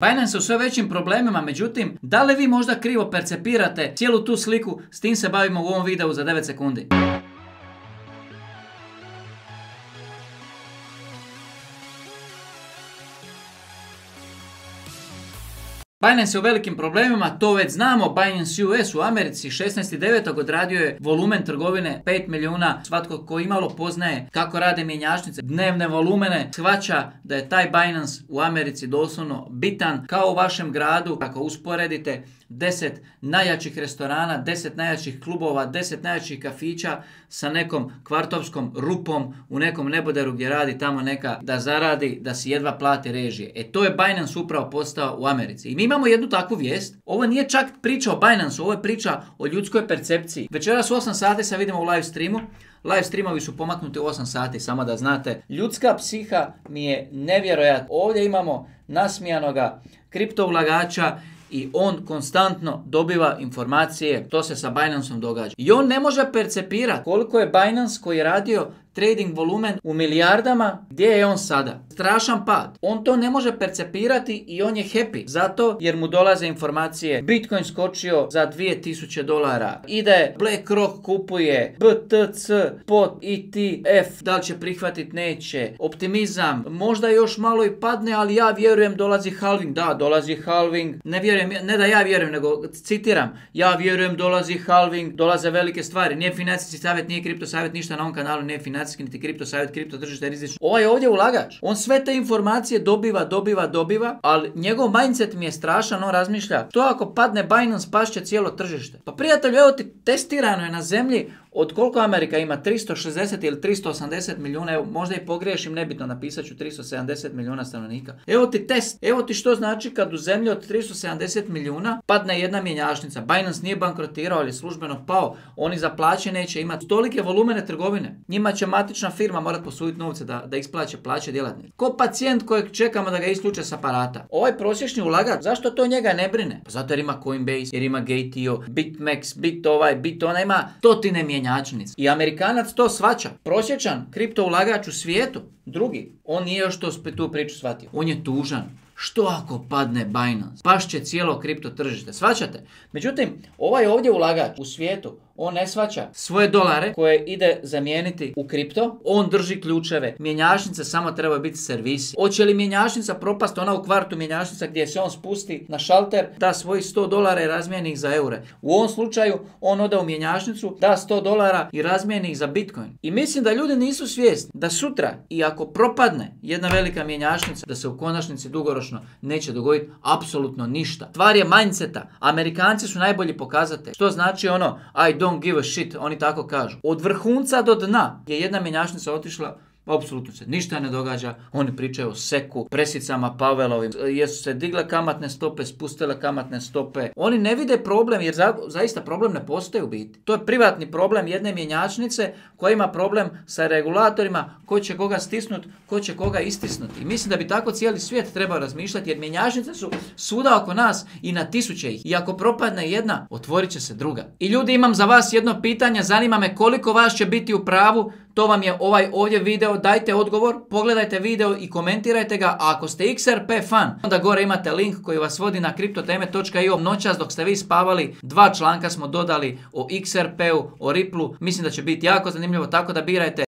Binance je u sve većim problemima, međutim, da li vi možda krivo percepirate cijelu tu sliku, s tim se bavimo u ovom videu za 9 sekundi. Binance je u velikim problemima, to već znamo. Binance US u Americi 16.9. odradio je volumen trgovine 5 milijuna. Svatko ko imalo poznaje kako rade mjenjačnice, dnevne volumene, shvaća da je taj Binance u Americi doslovno bitan. Kao u vašem gradu, ako usporedite 10 najjačih restorana, 10 najjačih klubova, 10 najjačih kafića sa nekom kvartovskom rupom u nekom neboderu gdje radi tamo neka da zaradi, da si jedva plati režije. E to je Binance upravo postao u Americi. I mi imamo jednu takvu vijest. Ovo nije čak priča o Binance, ovo je priča o ljudskoj percepciji. Večeras u 8 sati se vidimo u live streamu. Live streamovi su pomaknuti u 8 sati, samo da znate. Ljudska psiha mi je nevjerojatna. Ovdje imamo nasmijanoga kriptoulagača i on konstantno dobiva informacije što se sa Binanceom događa. I on ne može percepirati koliko je Binance koji je radio trading volumen u milijardama, gdje je on sada. Strašan pad. On to ne može percepirati i on je happy. Zato jer mu dolaze informacije. Bitcoin skočio za $2000. Ide BlackRock kupuje BTC, POT, ETF. Da li će prihvatiti? Neće. Optimizam. Možda još malo i padne, ali ja vjerujem dolazi halving. Da, dolazi halving. Ne vjerujem, ne da ja vjerujem, nego citiram. Ja vjerujem dolazi halving. Dolaze velike stvari. Nije financijski savjet, nije kripto savjet, ništa na ovom kanalu, nije financijski niti kripto savjet, kripto tržište je rizično. Ovaj je ovdje ulagač. On sve te informacije dobiva, ali njegov mindset mi je strašan. On razmišlja, to ako padne Binance, pašće cijelo tržište. Pa prijatelju, evo ti, testirano je na zemlji od koliko Amerika ima? 360 ili 380 milijuna, evo, možda i pogriješim, nebitno, napisat ću 370 milijuna stanovnika. Evo ti test, evo ti što znači kad u zemlji od 370 milijuna padne jedna mjenjačnica. Binance nije bankrotirao, ali je službeno pao. Oni za plaće neće imati tolike volumene trgovine. Njima će matična firma morati posuditi novce da isplaće plaće djelatnika. Ko pacijent kojeg čekamo da ga isključe s aparata. Ovaj prosječni ulagač, zašto to njega ne brine? Pa zato jer ima Coinbase, jer ima Gateo, BitMEX, Bit ona, ima stotine mjenjačnica. I Amerikanac to shvaća. Prosječan kripto ulagač u svijetu, drugi, on nije još tu priču shvatio. On je tužan. Što ako padne Binance? Pašće cijelo kripto tržište. Shvaćate? Međutim, ovaj ovdje ulagač u svijetu, on ne shvaća svoje dolare koje ide zamijeniti u kripto. On drži ključeve. Mjenjačnice samo trebaju biti servisi. Hoće li mjenjačnica propast, ona u kvartu mjenjačnica gdje se on spusti na šalter, da svojih $100 i razmijeni ih za eure. U ovom slučaju on ode u mjenjačnicu, da $100 i razmijeni ih za Bitcoin. I mislim da ljudi nisu svjesni da sutra i ako propadne jedna velika mjenjačnica, da se u konačnici dugoročno neće dogoditi apsolutno ništa. Stvar je mindseta. Amerikanci su najbolji pokazatelj. Što znači ono I don't give a shit, oni tako kažu. Od vrhunca do dna je jedna mjenjačnica otišla, apsolutno se ništa ne događa. Oni pričaju o seku, presicama Pavelovim, jesu se digle kamatne stope, spustile kamatne stope. Oni ne vide problem jer zaista problem ne postoji u biti. To je privatni problem jedne mjenjačnice koja ima problem sa regulatorima, ko će koga stisnut, ko će koga istisnuti. I mislim da bi tako cijeli svijet trebao razmišljati jer mjenjačnice su svuda oko nas i na tisuće ih. I ako propadne jedna, otvorit će se druga. I ljudi, imam za vas jedno pitanje, zanima me koliko vas će biti u pravu. To vam je ovaj ovdje video, dajte odgovor, pogledajte video i komentirajte ga. A ako ste XRP fan, onda gore imate link koji vas vodi na kriptoteme.io. Noćas dok ste vi spavali, 2 članka smo dodali o XRP-u, o Ripple-u. Mislim da će biti jako zanimljivo, tako da birajte.